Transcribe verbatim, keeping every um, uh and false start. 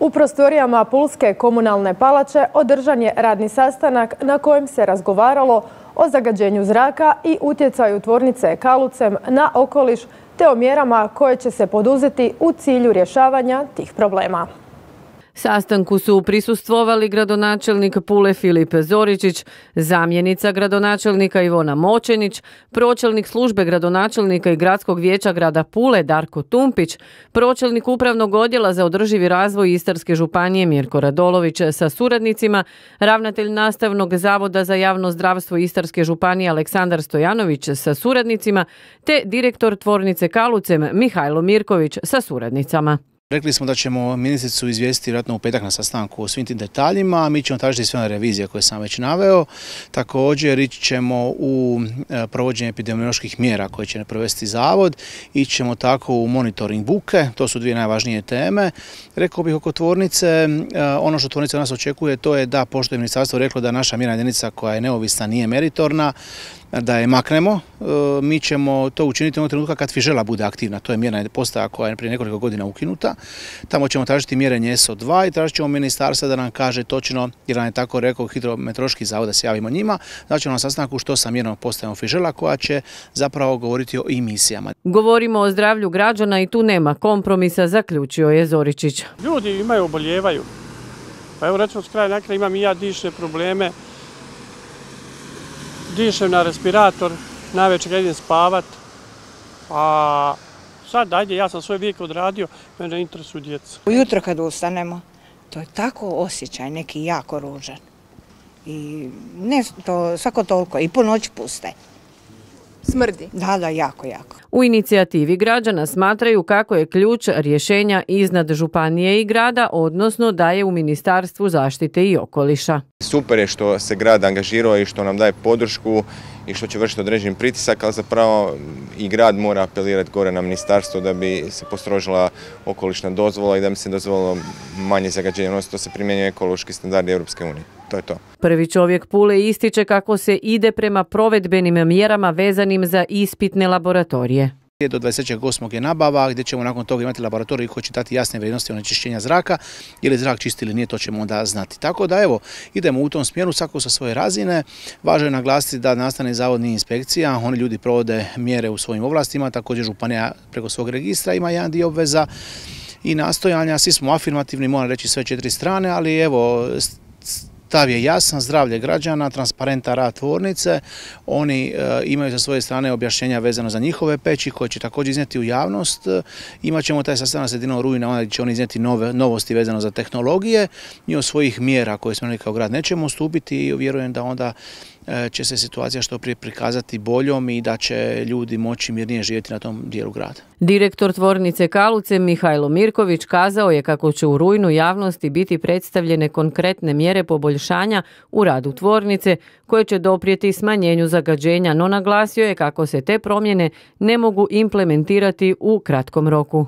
U prostorijama Pulske komunalne palače održan je radni sastanak na kojem se razgovaralo o zagađenju zraka i utjecaju tvornice Kalucem na okoliš te o mjerama koje će se poduzeti u cilju rješavanja tih problema. Sastanku su prisustvovali gradonačelnik Pule Filip Zoričić, zamjenica gradonačelnika Ivona Močenić, pročelnik službe gradonačelnika i gradskog vijeća grada Pule Darko Tumpić, pročelnik upravnog odjela za održivi razvoj Istarske županije Mirko Radolović sa suradnicima, ravnatelj nastavnog zavoda za javno zdravstvo Istarske županije Aleksandar Stojanović sa suradnicima, te direktor tvornice Kalucem Mihajlo Mirković sa suradnicama. Rekli smo da ćemo ministricu izvijestiti vjerojatno u petak na sastanku o svim tim detaljima, mi ćemo tražiti sve one revizije koje sam već naveo. Također ići ćemo u provođenje epidemioloških mjera koje će provesti zavod, ići ćemo tako u monitoring buke, to su dvije najvažnije teme. Rekao bih oko tvornice, ono što tvornica nas očekuje to je da, pošto je ministarstvo reklo da naša mjerna jedinica koja je neovisna nije meritorna, da je maknemo. Mi ćemo to učiniti u trenutka kad Fižela bude aktivna. To je mjerna postaja koja je prije nekoliko godina ukinuta. Tamo ćemo tražiti mjerenje S O dva i tražit ćemo ministarstva da nam kaže točno, jer nam je tako rekao hidrometeorološki zavod da se javimo njima, da ćemo na sastanku što sa mjernom postajom Fižela koja će zapravo govoriti o emisijama. Govorimo o zdravlju građana i tu nema kompromisa, zaključio je Zoričić. Ljudi imaju, oboljevaju. Pa evo recimo s kraja na kraj imam i ja dišne probleme. Dišem na respirator, navečer idem spavat, a sad ajde, ja sam svoj vijek odradio, mene interesuju djeca. Ujutro kad ustanemo, to je tako osjećaj neki jako ružan. I ne to svako toliko, i po noći puste. Smrdi? Da, da, jako, jako. U inicijativi građana smatraju kako je ključ rješenja iznad županije i grada, odnosno da je u Ministarstvu zaštite i okoliša. Super je što se grad angažirao i što nam daje podršku i što će vršiti određen pritisak, ali zapravo i grad mora apelirati gore na ministarstvo da bi se postrožila okolišna dozvola i da bi se dozvolilo manje zagađenja, odnosno to se primjenjuje ekološki standardi Europske unije. To je to. Prvi čovjek Pule ističe kako se ide prema provedbenim mjerama vezanim za ispitne laboratorije. Do dvadeset trećeg osmog je nabava gdje ćemo nakon toga imati laboratorij koji će dati jasne vrijednosti onečišćenja zraka, je li zrak čist ili nije, to ćemo onda znati. Tako da evo, idemo u tom smjeru, svako sa svoje razine. Važno je naglasiti da nastavni zavod nije inspekcija, oni ljudi provode mjere u svojim ovlastima, također županija preko svog registra ima jedan dio obveza i nastojanja, svi smo afirmativni, moram reći sve četiri strane, ali evo, stav je jasan, zdravlje građana, transparentan rad tvornice, oni e, imaju sa svoje strane objašnjenja vezano za njihove peći koje će također iznijeti u javnost. Imat ćemo taj sastanak sredinom rujna, onda će oni iznijeti nove novosti vezano za tehnologije i od svojih mjera koje smo kao grad nećemo ustupiti i vjerujem da onda e, će se situacija što prije prikazati boljom i da će ljudi moći mirnije živjeti na tom dijelu grada. Direktor tvornice Kaluce Mihajlo Mirković kazao je kako će u rujnu javnosti biti predstavljene konkretne mjere poboljšanja u radu tvornice koje će doprijeti smanjenju zagađenja, no naglasio je kako se te promjene ne mogu implementirati u kratkom roku.